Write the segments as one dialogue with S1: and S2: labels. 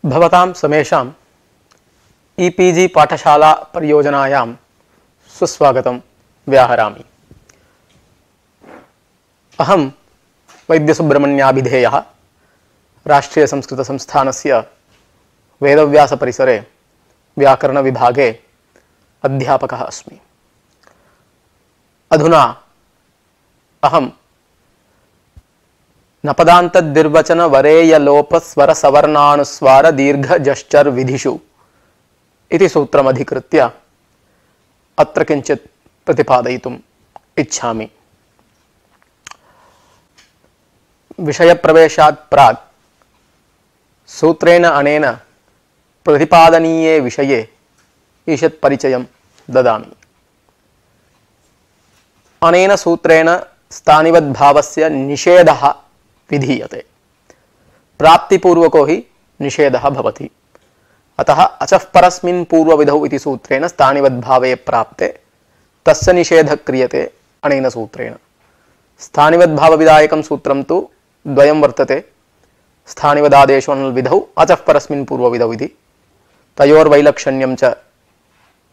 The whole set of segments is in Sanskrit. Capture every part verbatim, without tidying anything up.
S1: भवतां समेषां ईपीजी पाठशाला परियोजनायां सुस्वागतं व्याहरामि। अहं वैद्यसुब्रह्मण्याभिधेयः राष्ट्रीय संस्कृत संस्थानस्य वेदव्यास परिसरे व्याकरण विभागे अध्यापकः अस्मि। अधुना अहं नपदान्तद्विर्वचन वरेय लोप स्वर सवर्णानुस्वार दीर्घ जश्चर विधिषु इति सूत्रमधिकृत्य अत्र किञ्चित् प्रतिपादयितुम् इच्छामि। विषयप्रवेशात् प्राक् सूत्रेण अनेन प्रतिपादनीये विषये ईषत् परिचयं ददामि। अनेन सूत्रेण स्थानिवद्भावस्य निषेधः विधीयते। प्राप्तिपूर्वको हि निषेधः भवति। अतः अचः परस्मिन् पूर्वविधौ इति सूत्रेण स्थानिवद्भावे प्राप्ते तस्य निषेधः क्रियते अनेन सूत्रेण। स्थानिवद्भावविधायकं सूत्रं तु द्वयं वर्तते। स्थानिवदादेशोऽनुविधौ अचः परस्मिन् पूर्वविधौ इति तयोर्वैलक्षण्यं च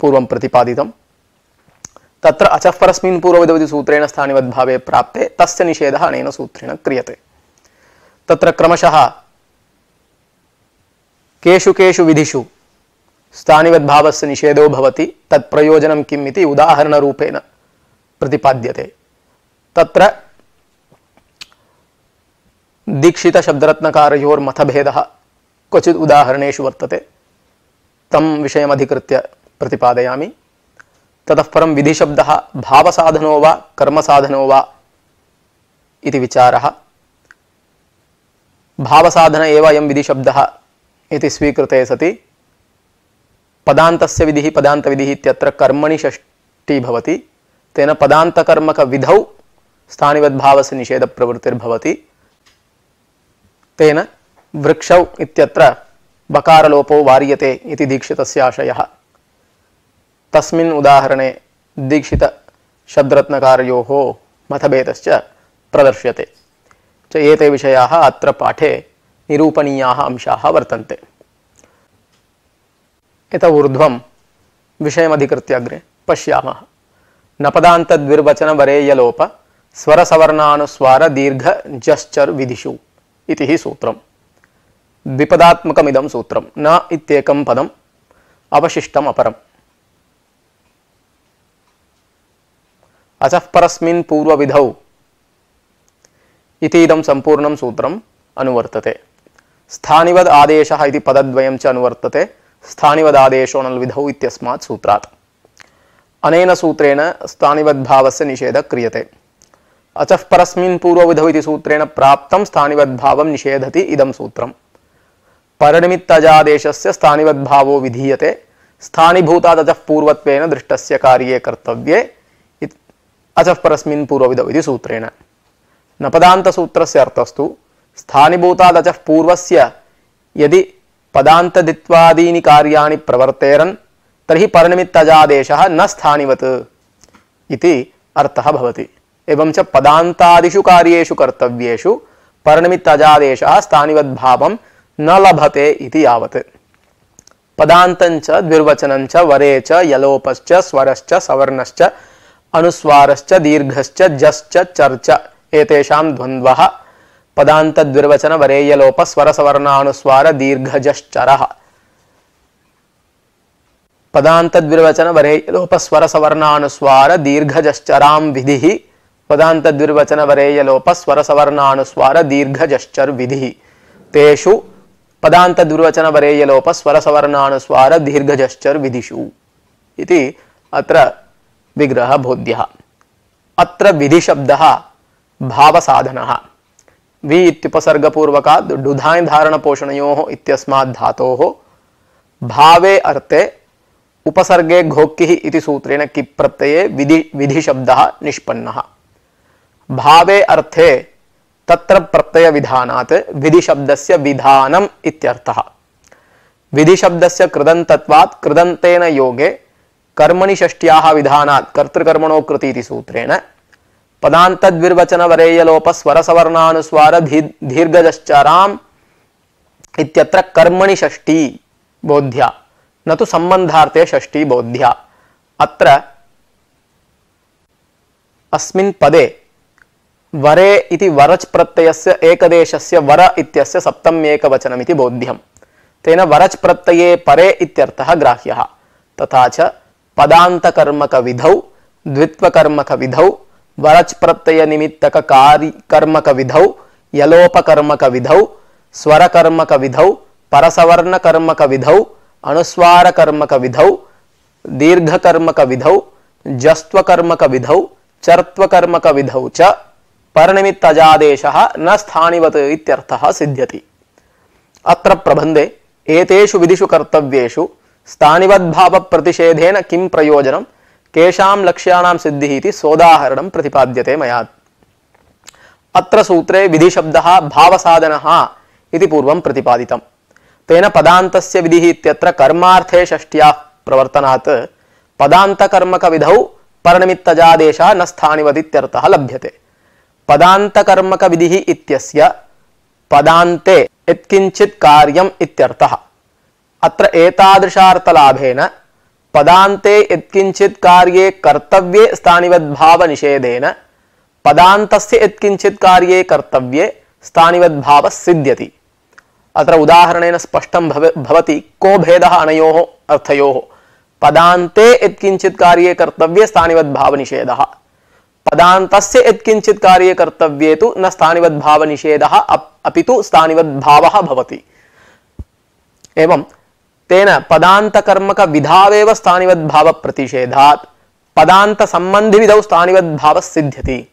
S1: पूर्वं प्रतिपादितं। तत्र अचः परस्मिन् पूर्वविधौ इति सूत्रेण स्थानिवद्भावे प्राप्ते तस्य निषेधः अनेन सूत्रेण क्रियते। तत्र क्रमशः केषु केषु विधिषु स्थानिवद्भावस्य निषेधो भवति तत् प्रयोजनं किम् इति उदाहरणरूपेण प्रतिपाद्यते। तत्र दीक्षितशब्दरत्नकारयोर्मतभेदः क्वचित् उदाहरणेषु वर्तते। तं विषयमधिकृत्य प्रतिपादयामि। ततः परं विधिशब्दः भावसाधनो वा कर्मसाधनो वा इति विचारः। भावसाधन एव अयं विधिशब्दः इति स्वीकृते सति पदान्तस्य विधिः पदान्तविधिः इत्यत्र कर्मणि षष्ठी भवति। तेन पदान्तकर्मकविधौ स्थानिवद्भावस्य निषेधप्रवृत्तिर्भवति। तेन वृक्षौ इत्यत्र बकारलोपो वार्यते इति दीक्षितस्य आशयः। तस्मिन् उदाहरणे दीक्षितशब्दरत्नकारयोः मतभेदश्च प्रदर्श्यते च। एते विषयाः अत्र पाठे निरूपणीयाः अंशाः वर्तन्ते। इत ऊर्ध्वं विषयमधिकृत्य अग्रे पश्यामः। नपदान्तद्विर्वचन वरेयलोप स्वरसवर्णानुस्वार दीर्घ जश्चर विधिषु इति हि सूत्रम्। द्विपदात्मकमिदं सूत्रं। न इत्येकं पदम् अवशिष्टम् अपरम्। अचः परस्मिन् पूर्वविधौ इति इदं सम्पूर्णं सूत्रम् अनुवर्तते। स्थानिवद् आदेशः इति पदद्वयं च अनुवर्तते। स्थानिवदादेशो नल्विधौ इत्यस्मात् सूत्रात्। अनेन सूत्रेण स्थानिवद्भावस्य निषेधः क्रियते। अचः परस्मिन् पूर्वविधौ इति सूत्रेण प्राप्तं स्थानिवद्भावं निषेधति इदं सूत्रम्। परनिमित्तजादेशस्य स्थानिवद्भावो विधीयते स्थानीभूतादचः पूर्वत्वेन दृष्टस्य कार्ये कर्तव्ये अचः परस्मिन् पूर्वविधौ इति सूत्रेण। नपदान्तसूत्रस्य अर्थस्तु स्थानीभूतादचः पूर्वस्य यदि पदान्तदित्वादीनि कार्याणि प्रवर्तेरन् तर्हि परनिमित्तजादेशः न स्थानिवत् इति अर्थः भवति। एवं च पदान्तादिषु कार्येषु कर्तव्येषु परनिमित्तजादेशः स्थानिवद्भावं न लभते इति यावत्। पदान्तञ्च द्विर्वचनञ्च वरे च यलोपश्च स्वरश्च सवर्णश्च अनुस्वारश्च दीर्घश्च जश्च चर्च एतेषां द्वन्द्वः पदान्तद्विर्वचन वरेयलोप स्वरसवर्णानुस्वार दीर्घजश्चरः। पदान्तद्विर्वचन वरेयलोप स्वरसवर्णानुस्वार दीर्घजश्चरां विधिः पदान्तद्विर्वचन वरेयलोप स्वरसवर्णानुस्वार दीर्घजश्चर विधिः। तेषु पदान्तद्विर्वचन वरेयलोप स्वरसवर्णानुस्वार दीर्घजश्चर विधिषु इति अत्र विग्रह बोध्यः। अत्र विधिशब्दः भावसाधनः। वि इत्युपसर्गपूर्वकात् डुधाय् धारणपोषणयोः इत्यस्मात् धातोः भावे अर्थे उपसर्गे घोक्किः इति सूत्रेण किप् प्रत्यये विधि विधिशब्दः निष्पन्नः। भावे अर्थे तत्र प्रत्ययविधानात् विधिशब्दस्य विधानम् इत्यर्थः। विधिशब्दस्य कृदन्तत्वात् कृदन्तेन योगे कर्मणि षष्ट्याः विधानात् कर्तृकर्मणो कृति इति सूत्रेण पदान्तद्विर्वचन वरेयलोप स्वरसवर्णानुस्वार दीर्घजश्चरां इत्यत्र कर्मणि षष्ठी बोध्या न तु सम्बन्धार्थे षष्ठी बोध्या। अत्र अस्मिन् पदे वरे इति वरच् प्रत्ययस्य एकदेशस्य वर इत्यस्य सप्तम्येकवचनमिति बोध्यं। तेन वरच् प्रत्यये परे इत्यर्थः ग्राह्यः। तथा च पदान्तकर्मकविधौ द्वित्वकर्मकविधौ वरच् प्रत्ययनिमित्तककारि कर्मकविधौ यलोपकर्मकविधौ स्वरकर्मकविधौ परसवर्णकर्मकविधौ अनुस्वारकर्मकविधौ दीर्घकर्मकविधौ जस्त्वकर्मकविधौ चर्त्वकर्मकविधौ च परनिमित्तजादेशः न स्थानिवत् इत्यर्थः सिद्ध्यति। अत्र प्रबन्धे एतेषु विधिषु कर्तव्येषु स्थानिवद्भावप्रतिषेधेन किं प्रयोजनं केषां लक्ष्याणां सिद्धिः इति सोदाहरणं प्रतिपाद्यते मया। अत्र सूत्रे विधिशब्दः भावसाधनः इति पूर्वं प्रतिपादितं। तेन पदान्तस्य विधिः इत्यत्र कर्मार्थे षष्ट्याः प्रवर्तनात् पदान्तकर्मकविधौ परनिमित्तजादेशः न स्थानिवत् इत्यर्थः लभ्यते। पदान्तकर्मकविधिः इत्यस्य पदान्ते यत्किञ्चित् कार्यम् इत्यर्थः। अत्र एतादृशार्थलाभेन पदान्ते यत्किञ्चित् कार्ये कर्तव्ये स्थानिवद्भावनिषेधेन पदान्तस्य यत्किञ्चित् कार्ये कर्तव्ये स्थानिवद्भावः सिद्ध्यति। अत्र उदाहरणेन स्पष्टं भवति को भेदः अनयोः अर्थयोः। पदान्ते यत्किञ्चित् कार्ये कर्तव्ये स्थानिवद्भावनिषेधः, पदान्तस्य यत्किञ्चित् कार्ये कर्तव्ये तु न स्थानिवद्भावनिषेधः अपि तु स्थानिवद्भावः भवति। एवं तेन पदान्तकर्मकविधावेव स्थानिवद्भावप्रतिषेधात् पदान्तसम्बन्धिविधौ स्थानिवद्भावः सिद्ध्यति।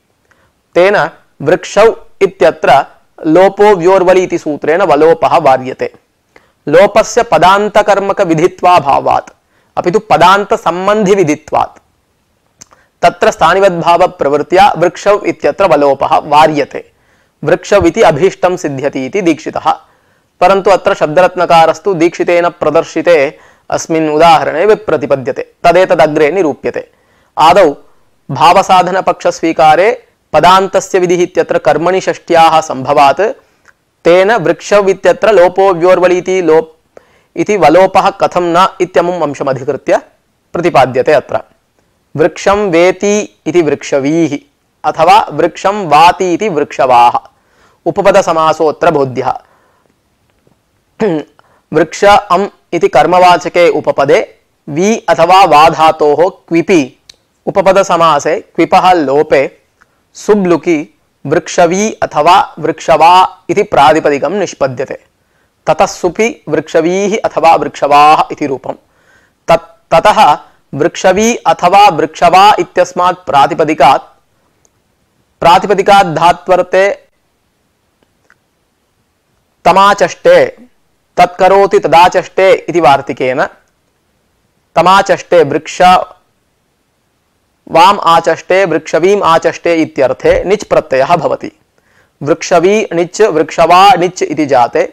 S1: तेन वृक्षौ इत्यत्र लोपो व्योर्वलि इति सूत्रेण वलोपः वार्यते। लोपस्य पदान्तकर्मकविधित्वाभावात् अपि तु पदान्तसम्बन्धिविधित्वात् तत्र स्थानिवद्भावप्रवृत्त्या वृक्षौ इत्यत्र वलोपः वार्यते। वृक्षौ इति अभीष्टं सिद्ध्यति इति दीक्षितः। परन्तु अत्र शब्दरत्नकारस्तु दीक्षितेन प्रदर्शिते अस्मिन् उदाहरणे विप्रतिपद्यते, तदेतदग्रे निरूप्यते। आदौ भावसाधनपक्षस्वीकारे पदान्तस्य विधिः इत्यत्र कर्मणि षष्ट्याः संभवात् तेन वृक्षौ इत्यत्र लोपो व्योर्वलि इति लोप इति वलोपः कथं न इत्यमुम् अंशमधिकृत्य प्रतिपाद्यते। अत्र वृक्षं वेति इति वृक्षवीः अथवा वृक्षं वाति इति वृक्षवाः उपपदसमासोऽत्र बोध्यः। वृक्ष अम् इति कर्मवाचके उपपदे वि अथवा वा धातोः क्विपि उपपदसमासे क्विपः लोपे सुब्लुकि वृक्षवी अथवा वृक्षवा इति प्रातिपदिकं निष्पद्यते। ततः सुपि वृक्षवीः अथवा वृक्षवाः इति रूपं। तत् ततः वृक्षवी अथवा वृक्षवा इत्यस्मात् प्रातिपदिकात् प्रातिपदिकात् धात्वर्ते तमाचष्टे तत्करोति तदाचष्टे इति वार्तिकेन तमाचष्टे वृक्ष वाम आचष्टे वृक्षवीम आचष्टे इत्यर्थे निच् प्रत्ययः भवति। वृक्षवी निच् वृक्षवा निच् इति जाते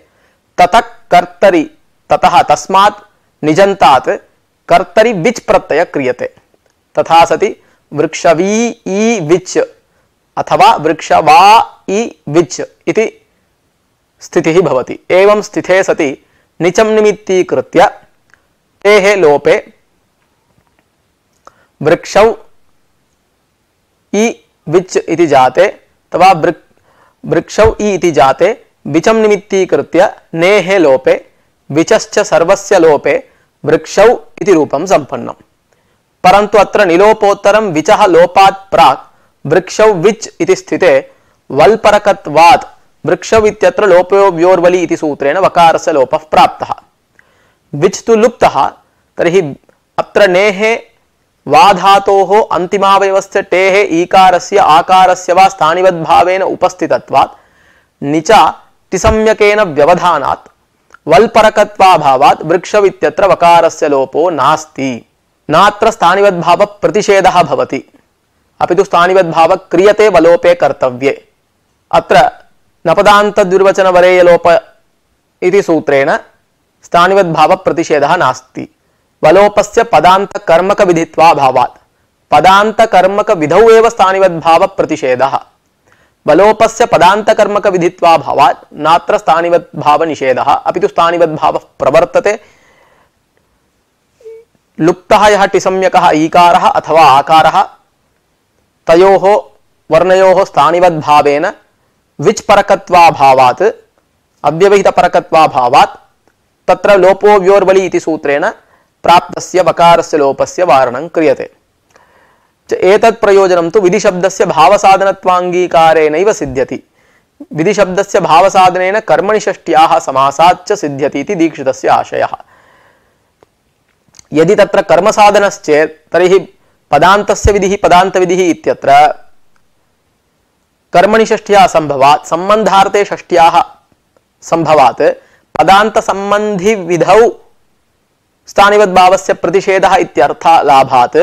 S1: ततः कर्तरि ततः तस्मात् निजन्तात् कर्तरि विच् प्रत्यय क्रियते। तथा सति वृक्षवी ई विच् अथवा वृक्षवा ई विच् इति स्थितिः भवति। एवं स्थिते सति निचं निमित्तीकृत्य तेः लोपे वृक्षौ इ विच् इति जाते अथवा वृक्षौ इ इति जाते विचं निमित्तीकृत्य नेः लोपे विचश्च सर्वस्य लोपे वृक्षौ इति रूपं सम्पन्नम्। परन्तु अत्र निलोपोत्तरं विचः लोपात् प्राक् वृक्षौ विच् इति स्थिते वल्परकत्वात् वृक्षौ इत्यत्र लोपो व्योर्वलि इति सूत्रेण वकारस्य लोपः प्राप्तः। विच् तु लुप्तः, तर्हि अत्र नेः वा धातोः अन्तिमावयवस्य टेः ईकारस्य आकारस्य वा स्थानिवद्भावेन उपस्थितत्वात् निचा तिसम्यकेन व्यवधानात् वल्परकत्वाभावात् वृक्षौ इत्यत्र वकारस्य लोपो नास्ति। नात्र स्थानिवद्भाव प्रतिषेधः भवति, अपि तु स्थानिवद्भाव क्रियते वलोपे कर्तव्ये। अत्र नपदान्तद्विर्वचनवरेयलोप इति सूत्रेण स्थानिवद्भाव प्रतिषेधः नास्ति। वलोपस्य पदान्तकर्मकविधित्वाभावात् पदान्तकर्मकविधौ एव स्थानिवद्भाव प्रतिषेधः। बलोपस्य पदान्तकर्मक विधित्वाभावात् नात्र स्थानिवद्भाव निषेधः अपितु स्थानिवद्भावः प्रवर्तते। लुप्तः यः टिसम्यकः ईकारः अथवा आकारः तयोः वर्णयोः स्थानिवद्भावेन विच्परकत्वाभावात् अव्यवहितपरकत्वाभावात् तत्र लोपो व्योर्बलि इति सूत्रेण प्राप्तस्य वकारस्य लोपस्य वारणं क्रियते। एतत् प्रयोजनं तु विधिशब्दस्य भावसाधनत्वाङ्गीकारेणैव सिद्ध्यति। विधिशब्दस्य भावसाधनेन कर्मणि षष्ट्याः समासात् च सिद्ध्यति इति दीक्षितस्य आशयः। यदि तत्र कर्मसाधनश्चेत् तर्हि पदान्तस्य विधिः पदान्तविधिः इत्यत्र कर्मणि षष्ट्याः संभवात् सम्बन्धार्थे षष्ट्याः संभवात् पदान्तसम्बन्धि विधौ स्थानिवद्भावस्य प्रतिषेधः इत्यर्थः लाभात्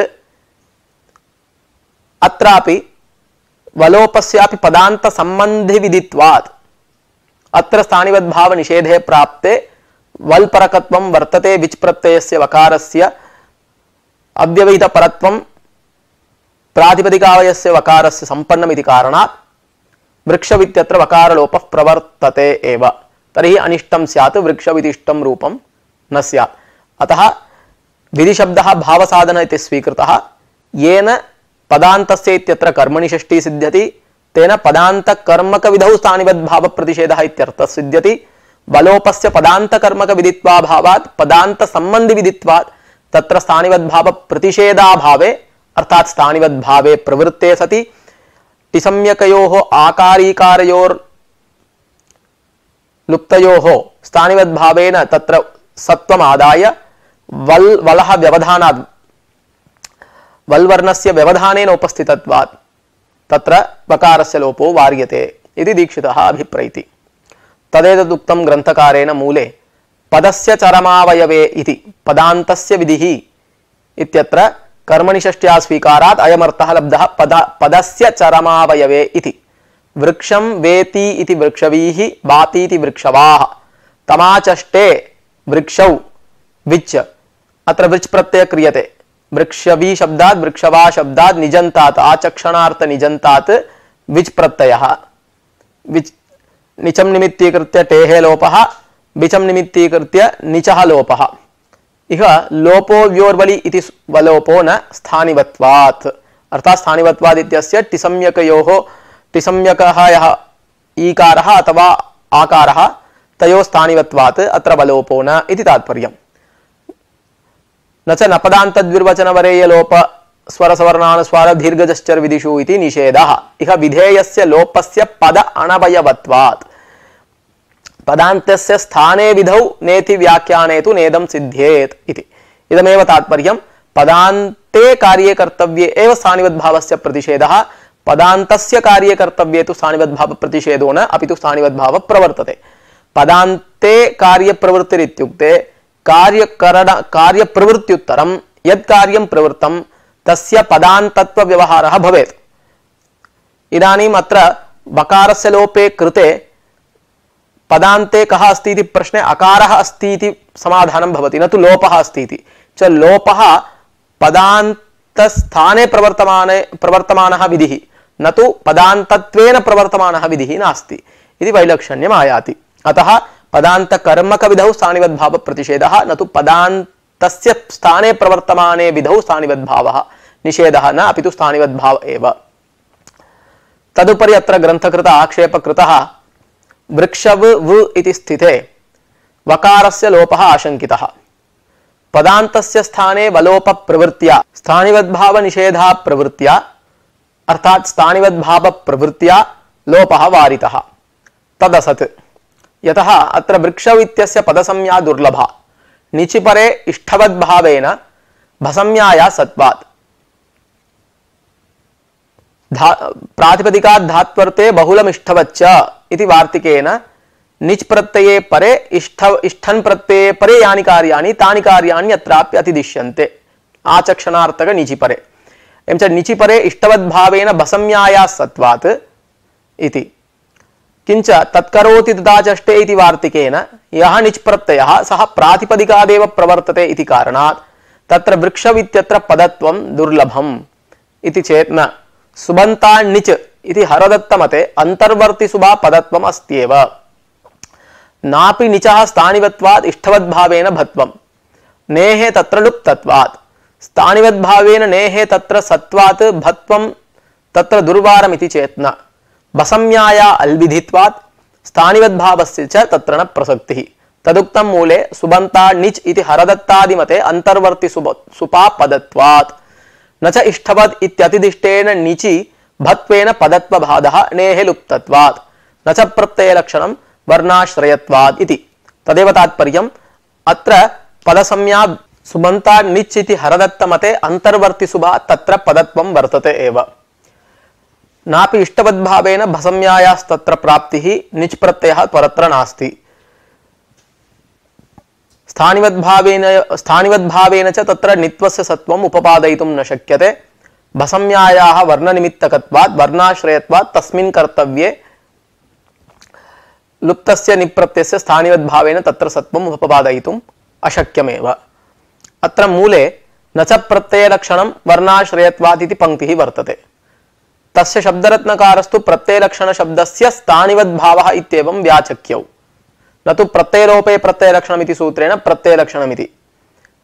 S1: अत्रापि वलोपस्यापि पदान्तसम्बन्धि विधित्वात् अत्र स्थानिवद्भाव निषेधे प्राप्ते वल्परकत्वं वर्तते। विच् प्रत्ययस्य वकारस्य अव्यवहितपरत्वं प्रातिपदिकावयस्य वकारस्य सम्पन्नमिति कारणात् वृक्षवित्यत्र वकारलोपः प्रवर्तते एव। तर्हि अनिष्टं स्यात् वृक्षविदिष्टं रूपं न स्यात्। अतः विधिशब्दः भावसाधन इति स्वीकृतः। येन पदान्तस्य इत्यत्र कर्मणि षष्ठी सिद्ध्यति तेन पदान्तकर्मकविधौ स्थानिवद्भावप्रतिषेधः इत्यर्थः सिद्ध्यति। बलोपस्य पदान्तकर्मकविदित्वाभावात् पदान्तसम्बन्धिविदित्वात् तत्र स्थानिवद्भावप्रतिषेधाभावे अर्थात् स्थानिवद्भावे प्रवृत्ते सति टिसम्यकयोः आकारीकारयोर् लुप्तयोः स्थानिवद्भावेन तत्र सत्वमादाय वल् वलः व्यवधानात् वल्वर्णस्य व्यवधानेन उपस्थितत्वात् तत्र वकारस्य लोपो वार्यते इति दीक्षितः अभिप्रैति। तदेतदुक्तं ग्रन्थकारेण मूले पदस्य चरमावयवे इति पदान्तस्य विधिः इत्यत्र कर्मणि षष्ट्या स्वीकारात् अयमर्थः लब्धः पद पदस्य चरमावयवे इति। वृक्षं वेति इति वृक्षवीः वाति इति वृक्षवाः तमाचष्टे वृक्षौ विच् अत्र वृच् प्रत्यय क्रियते। वृक्षवी शब्दात् वृक्षवा शब्दात् निजन्तात् आचक्षणार्थ निजन्तात् विच् प्रत्ययः विच् निचम निमित्तीकृत्य टेहे लोपः बिचम निमित्तीकृत्य निचः लोपः। इह लोपो व्योर्बलि इति वलोपो न स्थानिवत्वात् अर्थात् स्थानिवत्वात् इत्यस्य टिसम्यकयोः टिसम्यकः यः ईकारः अथवा आकारः तयोः स्थानिवत्वात् अत्र वलोपो न इति तात्पर्यम्। न च नपदान्तद्विर्वचनवरेय लोप स्वरसवर्णानुस्वार दीर्घजश्चर विदिषु इति निषेधः। इह विधेयस्य लोपस्य पद अणवयवत्वात् पदान्तस्य स्थाने विधौ नेति व्याख्याने तु नेदं सिद्ध्येत् इति। इदमेव तात्पर्यं। पदान्ते कार्ये कर्तव्ये एव स्थानिवद्भावस्य प्रतिषेधः। पदान्तस्य कार्ये कर्तव्ये तु स्थानिवद्भाव प्रतिषेधो न अपितु स्थानिवद्भाव प्रवर्तते। पदान्ते कार्यप्रवृत्तिरित्युक्ते कार्यकरण कार्यप्रवृत्त्युत्तरं यत् कार्यं प्रवृत्तं तस्य पदान्तत्व व्यवहारः भवेत्। इदानीम् अत्र वकारस्य लोपे कृते पदान्ते कः अस्ति इति प्रश्ने अकारः अस्ति इति समाधानं भवति, न तु लोपः अस्ति इति। च लोपः पदान्तस्थाने प्रवर्तमाने प्रवर्तमानः विधिः न तु पदान्तत्वेन प्रवर्तमानः विधिः नास्ति इति वैलक्षण्यम् आयाति। अतः पदान्तकर्मकविधौ स्थानिवद्भाव प्रतिषेधः न तु पदान्तस्य स्थाने प्रवर्तमाने विधौ स्थानिवद्भावः निषेधः न अपितु स्थानिवद्भाव एव। तदुपरि अत्र ग्रन्थकृत आक्षेपकृतः वृक्षव व इति स्थिते वकारस्य लोपः आशंकितः। पदान्तस्य स्थाने वलोप प्रवृत्त्या स्थानिवद्भाव निषेधा प्रवृत्त्या अर्थात् स्थानिवद्भाव प्रवृत्त्या लोपः वारितः। तदसत् यतः अत्र वृक्षव इत्यस्य पदसंज्ञा दुर्लभा निचिपरे इष्ठवद्भावेन भसंज्ञाया सत्वात् धा प्रातिपदिकात् धात्वर्ते बहुलमिष्ठवच्च इति वार्तिकेन निच् प्रत्यये परे इष्ठ इष्ठन् प्रत्यये परे यानि कार्याणि तानि कार्याणि अत्रापि अतिदिश्यन्ते आचक्षणार्थक निचिपरे। एवं च निचिपरे इष्टवद्भावेन भसंज्ञाया सत्वात् इति। किंच तत्करोति तदाचष्टे इति वार्तिकेन यः निच् प्रत्ययः सः प्रातिपदिकादेव प्रवर्तते इति कारणात् तत्र वृक्षवित्यत्र पदत्वं दुर्लभम् इति चेत् न सुबन्ताण्णिच् इति हरदत्तमते अन्तर्वर्तिसुबा पदत्वम् अस्त्येव। नापि निचः स्थानिवत्वात् इष्टवद्भावेन भत्वम् नेहे तत्र लुप्तत्वात् स्थानिवद्भावेन नेहे तत्र सत्वात् भत्वं तत्र दुर्वारमिति चेत् न। बसम्याया अल्विधित्वात् स्थानिवद्भावस्य च तत्र न प्रसक्तिः। तदुक्तं मूले सुबन्ताण्णिच् इति हरदत्तादिमते अन्तर्वर्ति सुपा पदत्वात् न च इष्टवद् इत्यतिदिष्टेन निचि भत्वेन पदत्वबाधः नेहे लुप्तत्वात् न च प्रत्ययलक्षणं वर्णाश्रयत्वात् इति। तदेव तात्पर्यम्। अत्र पदसंज्ञा सुबन्ताण्णिच् इति हरदत्तमते अन्तर्वर्तिसुबा तत्र पदत्वं वर्तते एव। नापि इष्टवद्भावेन भसम्यायास्तत्र प्राप्तिः निच् प्रत्ययः परत्र नास्ति। स्थानिवद्भावेन स्थानिवद्भावेन च तत्र नित्वस्य सत्वम् उपपादयितुं न शक्यते। भसम्यायाः वर्णनिमित्तकत्वात् वर्णाश्रयत्वात् तस्मिन् कर्तव्ये लुप्तस्य निप्रत्ययस्य स्थानिवद्भावेन तत्र सत्वम् उपपादयितुम् अशक्यमेव। अत्र मूले न च प्रत्ययलक्षणं वर्णाश्रयत्वात् इति पंक्तिः वर्तते। तस्य शब्दरत्नकारस्तु प्रत्ययलक्षणशब्दस्य स्थानिवद्भावः इत्येवं व्याचक्यौ, न तु प्रत्ययलोपे प्रत्ययलक्षणमिति सूत्रेण प्रत्ययलक्षणमिति।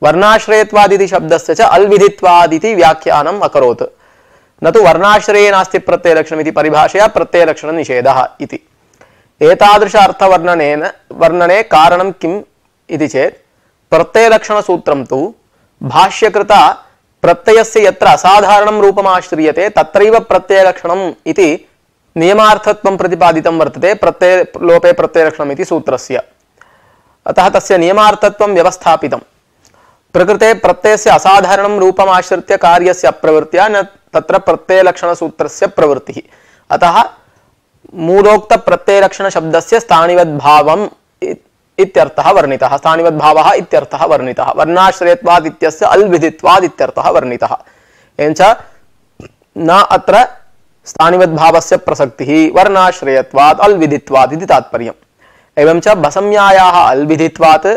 S1: वर्णाश्रयत्वादिति शब्दस्य च अल्विधित्वादिति व्याख्यानम् अकरोत्, न तु वर्णाश्रये नास्ति प्रत्ययलक्षणमिति परिभाषया प्रत्ययलक्षणनिषेधः इति। एतादृश अर्थवर्णनेन वर्णने कारणं किम् इति चेत् प्रत्ययलक्षणसूत्रं तु भाष्यकृता प्रत्ययस्य यत्र असाधारणं रूपमाश्रियते तत्रैव प्रत्ययलक्षणम् इति नियमार्थत्वं प्रतिपादितं वर्तते प्रत्ययलोपे प्रत्ययलक्षणमिति सूत्रस्य। अतः तस्य नियमार्थत्वं व्यवस्थापितं। प्रकृते प्रत्ययस्य असाधारणं रूपमाश्रित्य कार्यस्य अप्रवृत्त्या न तत्र प्रत्ययलक्षणसूत्रस्य प्रवृत्तिः। अतः मूलोक्त प्रत्ययलक्षणशब्दस्य स्थानिवद्भावम् इत्यर्थः वर्णितः, स्थानिवद्भावः इत्यर्थः वर्णितः। वर्णाश्रयत्वाद् इत्यस्य अल्विधित्वाद् इत्यर्थः वर्णितः। एवञ्च न अत्र स्थानिवद्भावस्य प्रसक्तिः वर्णाश्रयत्वाद् अल्विधित्वाद् इति तात्पर्यम्। एवञ्च भसम्यायाः अल्विधित्वात्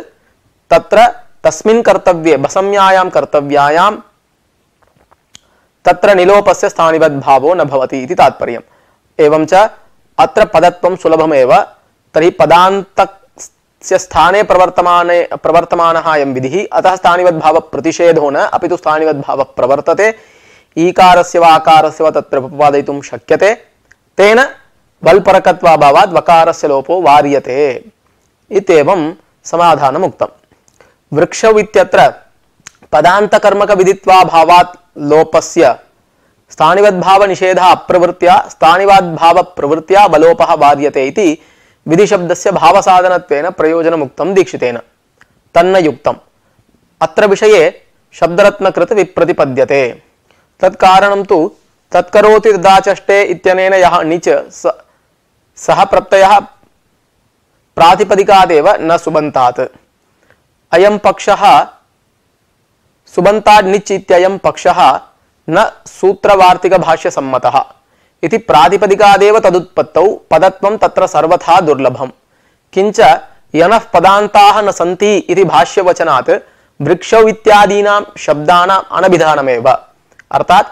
S1: तत्र तस्मिन् कर्तव्ये भसम्यायां कर्तव्यायां तत्र निलोपस्य स्थानिवद्भावो न भवति इति तात्पर्यम्। एवञ्च अत्र पदत्वं सुलभमेव। तर्हि पदान्तस्य स्थाने प्रवर्तमाने प्रवर्तमानः अयं विधिः, अतः स्थानिवद्भाव प्रतिषेधो न अपि तु स्थानिवद्भाव प्रवर्तते। ईकारस्य वा आकारस्य वा तत्र उपपादयितुं शक्यते। तेन वल्परकत्वाभावात् वकारस्य लोपो वार्यते इत्येवं समाधानम् उक्तम्। वृक्षौ इत्यत्र पदान्तकर्मकविदित्वाभावात् लोपस्य स्थानिवद्भावनिषेधः अप्रवृत्त्या स्थानिवद्भावप्रवृत्त्या वलोपः वार्यते इति विधिशब्दस्य भावसाधनत्वेन प्रयोजनमुक्तं दीक्षितेन। तन्न युक्तम्। अत्र विषये शब्दरत्नकृत विप्रतिपद्यते। तत्कारणं तु तत्करोति तदाचष्टे इत्यनेन यः णिच् सः प्रत्ययः प्रातिपदिकादेव न सुबन्तात्। अयं पक्षः सुबन्ताण्णिच् इत्ययं पक्षः न सूत्रवार्तिकभाष्यसम्मतः इति प्रातिपदिकादेव तदुत्पत्तौ पदत्वं तत्र सर्वथा दुर्लभम्। किंच यनः पदान्ताः न सन्ति इति भाष्यवचनात् वृक्षौ इत्यादीनां शब्दानाम् अनभिधानमेव। अर्थात्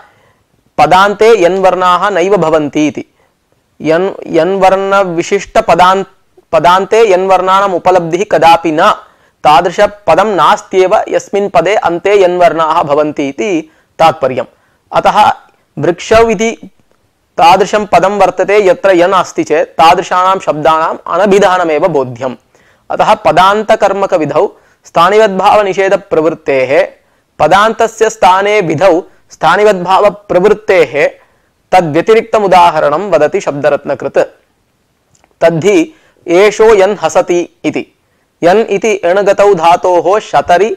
S1: पदान्ते यन्वर्णाः नैव भवन्ति इति। यन् यन्वर्ण विशिष्ट पदान्त पदान्ते यन्वर्णानाम् उपलब्धिः कदापि न, तादृश पदं नास्त्येव यस्मिन् पदे अन्ते यन्वर्णाः भवन्ति इति तात्पर्यम्। अतः वृक्षौ इति तादृशं पदं वर्तते यत्र यन् अस्ति चेत् तादृशानां शब्दानाम् अनभिधानमेव बोध्यम्। अतः पदान्तकर्मकविधौ स्थानिवद्भावनिषेधप्रवृत्तेः पदान्तस्य स्थाने विधौ स्थानिवद्भावप्रवृत्तेः तद्व्यतिरिक्तम् उदाहरणं वदति शब्दरत्नकृत्। तद्धि एषो यन् हसति इति। यन् इति एणगतौ धातोः शतरि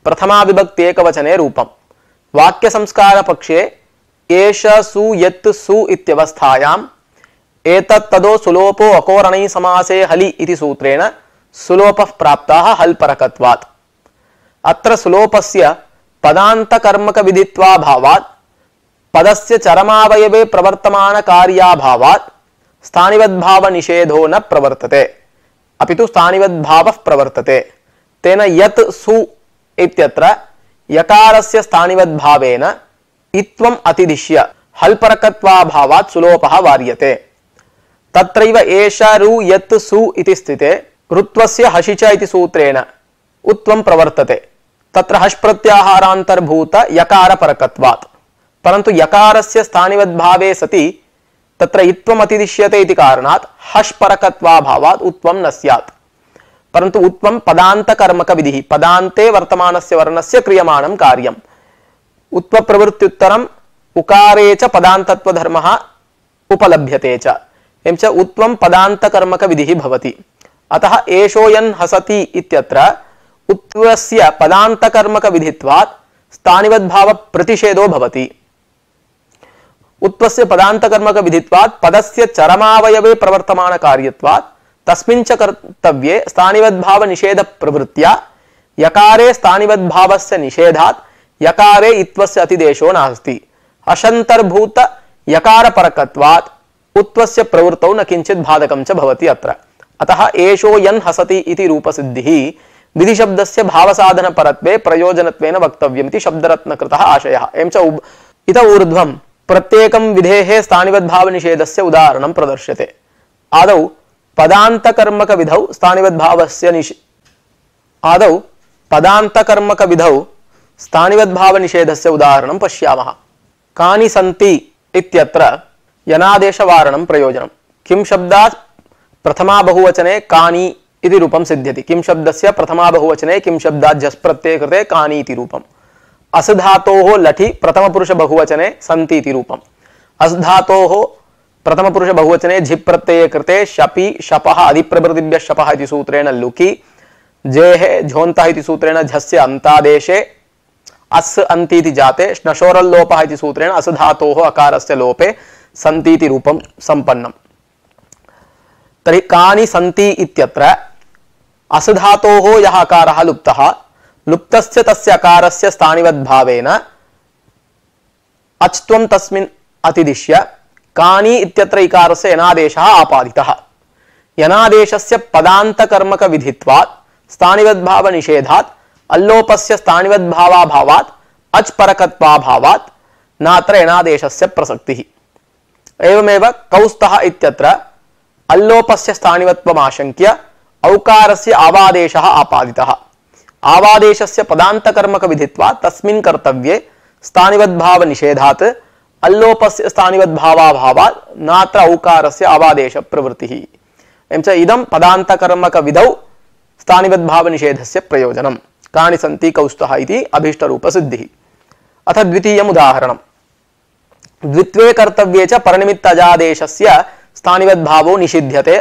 S1: प्रथमा विभक्ति एकवचने रूपम्। वाक्यसंस्कारपक्षे एष सु यत् सु इत्यवस्थायाम् एतत् तदो सुलोपो अकोरणै समासे हलि इति सूत्रेण सुलोपः प्राप्तः हल्परकत्वात्। अत्र सुलोपस्य पदान्तकर्मकविदित्वाभावात् पदस्य चरमावयवे प्रवर्तमानकार्याभावात् स्थानिवद्भावनिषेधो न प्रवर्तते, अपि तु स्थानिवद्भावः प्रवर्तते। तेन यत् सु इत्यत्र यकारस्य स्थानिवद्भावेन इत्वम् अतिदिश्य हल्परकत्वाभावात् सुलोपः वार्यते। तत्रैव एष रु यत् सु इति स्थिते ऋत्वस्य हषि च इति सूत्रेण उत्वं प्रवर्तते। तत्र हश् प्रत्याहारान्तर्भूत यकारपरकत्वात्। परन्तु यकारस्य स्थानिवद्भावे सति तत्र इत्वम् अतिदिश्यते इति कारणात् हश् परकत्वाभावात् उत्वं न स्यात्। परन्तु उत्वं पदान्तकर्मक विधिः, पदान्ते वर्तमानस्य वर्णस्य क्रियमाणं कार्यम्। उत्वप्रवृत्त्युत्तरम् उकारे च पदान्तत्वधर्मः उपलभ्यते च। एवं च उत्वं पदान्तकर्मक विधिः भवति। अतः एषो यन् हसति इत्यत्र उत्वस्य पदान्तकर्मक विधित्वात् स्थानिवद्भाव प्रतिषेधो भवति। उत्वस्य पदान्तकर्मक विधित्वात् पदस्य चरमावयवे प्रवर्तमान कार्यत्वात् तस्मिन् च कर्तव्ये स्थानिवद्भाव निषेध प्रवृत्त्या यकारे स्थानिवद्भावस्य निषेधात् यकारे इत्वस्य अतिदेशो नास्ति। अशन्तर्भूत यकारपरकत्वात् उत्वस्य प्रवृत्तौ न किंचित् बाधकं च भवति अत्र। अतः एषो यन् हसति इति रूपसिद्धिः विधिशब्दस्य भावसाधनपरत्वे प्रयोजनत्वेन वक्तव्यमिति शब्दरत्नकृतः आशयः। एवं च इत ऊर्ध्वं प्रत्येकं विधेः स्थानिवद्भावनिषेधस्य उदाहरणं प्रदर्श्यते। आदौ पदान्तकर्मक विधौ स्थानिवद्भावस्य निषे आदौ पदान्तकर्मक विधौ स्थानिवद्भावनिषेधस्य उदाहरणं पश्यामः। कानि सन्ति इत्यत्र यनादेशवारणं प्रयोजनं। किं शब्दात् प्रथमा बहुवचने कानि इति रूपं सिद्ध्यति। किं शब्दस्य प्रथमा बहुवचने किं शब्दात् झस् प्रत्यये कृते कानि इति रूपम्। अस् धातोः लठि प्रथमपुरुष बहुवचने सन्ति इति रूपम्। अस् धातोः प्रथमपुरुष बहुवचने झि प्रत्यये कृते शपि शपः अधिप्रभृतिभ्यः शपः इति सूत्रेण लुकि, जेः झोन्तः इति सूत्रेण झस्य अन्तादेशे, अस् अन्ति इति जाते श्नशोरल्लोपः इति सूत्रेण अस् धातोः अकारस्य लोपे सन्ति इति रूपं सम्पन्नम्। तर्हि कानि सन्ति इत्यत्र अस् धातोः यः अकारः लुप्तः, लुप्तस्य तस्य अकारस्य स्थानिवद्भावेन अच्त्वं तस्मिन् अतिदिश्य कानि इत्यत्र इकारस्य यनादेशः आपादितः। यनादेशस्य पदान्तकर्मक विधित्वात् स्थानिवद्भावनिषेधात् अल्लोपस्य स्थानिवद्भावाभावात् अच् परकत्वाभावात् नात्र यनादेशस्य प्रसक्तिः। एवमेव कौस्तः इत्यत्र अल्लोपस्य स्थानिवत्वमाशंक्य औकारस्य आवादेशः आपादितः। आवादेशस्य पदान्तकर्मक विधित्वात् तस्मिन् कर्तव्ये स्थानिवद्भावनिषेधात् अल्लोपस्य स्थानिवद्भावाभावात् नात्र औकारस्य आवादेश प्रवृत्तिः। एवं च इदं पदान्तकर्मक विधौ स्थानिवद्भावनिषेधस्य प्रयोजनं। कानि सन्ति कौस्तः इति अभीष्टरूपसिद्धिः। अथ द्वितीयम् उदाहरणम्। द्वित्वे कर्तव्ये च परनिमित्तजादेशस्य स्थानिवद्भावो निषिध्यते